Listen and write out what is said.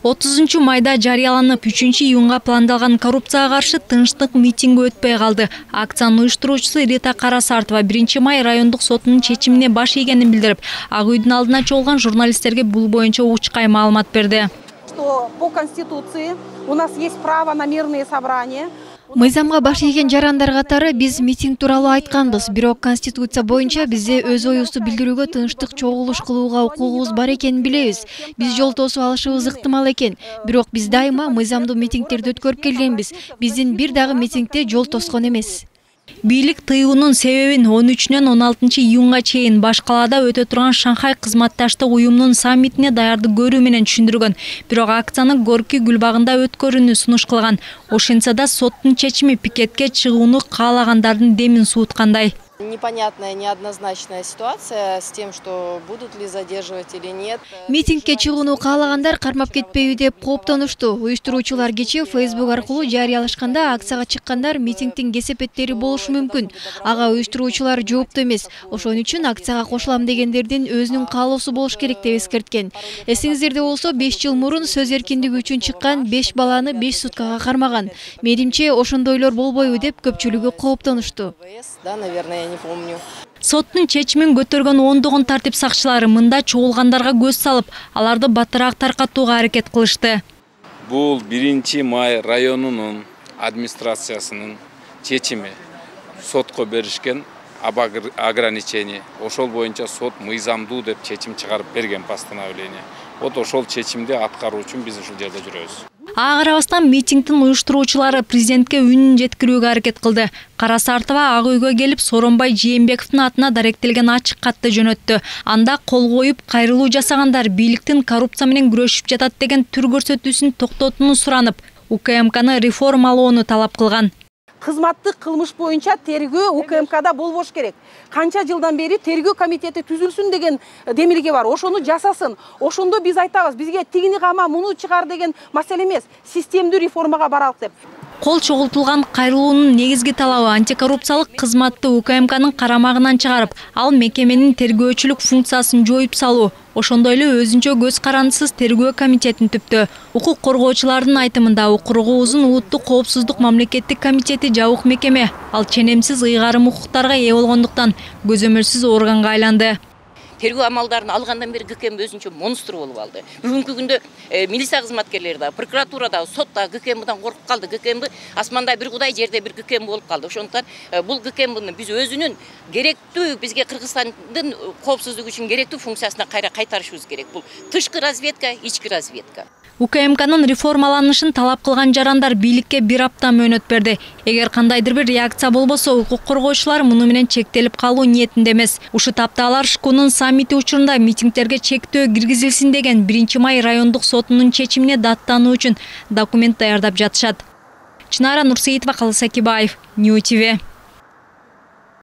30 майда жарыяланып 3-июнга пландалган коррупцияга каршы тынчтык митинги өтпөй калды. Акциянын уюштуруучусу Рита Карасартова 1 май райондук сотунун чечимине баш ийгенин билдирип, Ак үйдүн алдына чогулган журналисттерге бул боюнча учкай маалымат берди. Что по Конституции у нас есть право на мирные собрания. Мыйзамга баш ийген жарандар катары биз митинг тууралуу айтканбыз, бирок Конституция боюнча бизде өз оюбузду билдирүүгө тынчтык чогулуш кылууга укугубуз бар экенин билебиз. Биз жол тосуп алышыбыз ыктымал экен, бирок биз дайыма мыйзамдуу митингтерди өткөрүп келгенбиз. Биздин бир дагы митингде жол тоскон эмес. Бийлик тыюунун себебин 13-нөн 16-июнга чейин баш калаада өтө турган Шанхай кызматташтык уюмунун саммитине даярдык көрүү менен түшүндүргөн. Бирок акцияны Горький гүлбагында өткөрүүнү сунуш кылган. Ошентсе да соттун чечими пикетке чыгууну каалагандардын демин сууткандай. Непонятная, неоднозначная ситуация с тем, что будут ли задерживать или нет. Митингке чыгууну каалагандар кармап кетпейби деп кооптонушту. Уюштуруучулар кечээ Facebook аркылуу жарыялашканда акцияга чыккандар митингдин кесепеттери болушу мүмкүн. Ага уюштуруучулар жоопту эмес. Ошон үчүн акцияга кошулам дегендердин өзүнүн каалоосу болуш керек деп эскерткен. Эсиңиздерде болсо 5 жыл мурун сөз эркиндиги үчүн чыккан 5 баланы 5 суткага кармаган. Менимче ошондойлор болбойбу деп көпчүлүгү кооптонушту. Да, наверное, не помню. Соттун чечимин көтөргөн ондогон тартип сакчылары мында чогулгандарга көз салып, аларды баттыраак таркатууга аракет кылышты. Бул 1 май районунун администрациясынын чечими. Сотко беришкен ограничение. Ошол боюнча сот мыйзамдуу деп чечим чыгарып берген постановление. Вот ошол чечимди аткаруу үчүн биз ушул жерде жүрөбүз. Ага карабастан митингдин уюштуруучулары президентке үнүн жеткирүүгө аракет кылды. Карасартова Ак үйгө келип Сооронбай Жээнбековдун атына даректелген ачык катты жөнөттү. Анда кол коюп кайрылуу жасагандар бийликтин коррупция менен күрөшүп жатат деген түр көрсөтүүсүн токтотууну суранып, УКМКны реформалоону талап кылган. Кызматтык кылмыш боюнча тергөө УКМКда болбош керек. Канча жылдан бери тергөө комитети түзүлсүн деген демилге бар. Ошону жасасын. Ошондо биз айтабыз, бизге тигини кама, муну чыгар деген маселе эмес. Системдүү реформага баралык деп. Кол чогултулган кайрылуунун негизги талабы антикоррупциялык кызматты УКМКнын карамагынан чыгарып, ал мекеменин тергөөчүлүк функциясын жоюп салуу. Ошондой эле өзүнчө көз карандысыз тергөө комитетин түптү. Укук коргоочулардын айтымында укугубуздун улуттук коопсуздук мамлекеттик комитети жабык мекеме. Ал ченемсиз ыйгарым укуктарга ээ болгондуктан көзөмөлсүз органга айланды. Тергөө амалдарын алгандан бери ГКМ өзүнчө монстр болуп алды. Бүгүнкү күндө милиция кызматкерлери да, прокуратурада, сотта ГКМдан коркуп калды. ГКМ асманда бир Кудай, жерде бир ГКМ болуп калды. Ошондуктан бул ГКМны биз өзүнүн керектүү, бизге Кыргызстандын коопсуздугу үчүн керектүү функциясына кайра кайтарышыбыз керек. Бул тышкы разведка, ички разведка. УКМКнын реформаланышын талап кылган жарандар бийликке 1 апта мөөнөт берди. Эгер кандайдыр бир реакция болбосо, укук коргоочулар муну менен чектелип калуу ниетинде эмес. Ушул тапта алар ШКУнун саммити учурунда митингтерге чектөө киргизилсин деген 1 май райондук сотунун чечимине даттануу үчүн документ даярдап жатышат. Чынара Нурсеитова, Калыс Акибаев, Нью ТВ.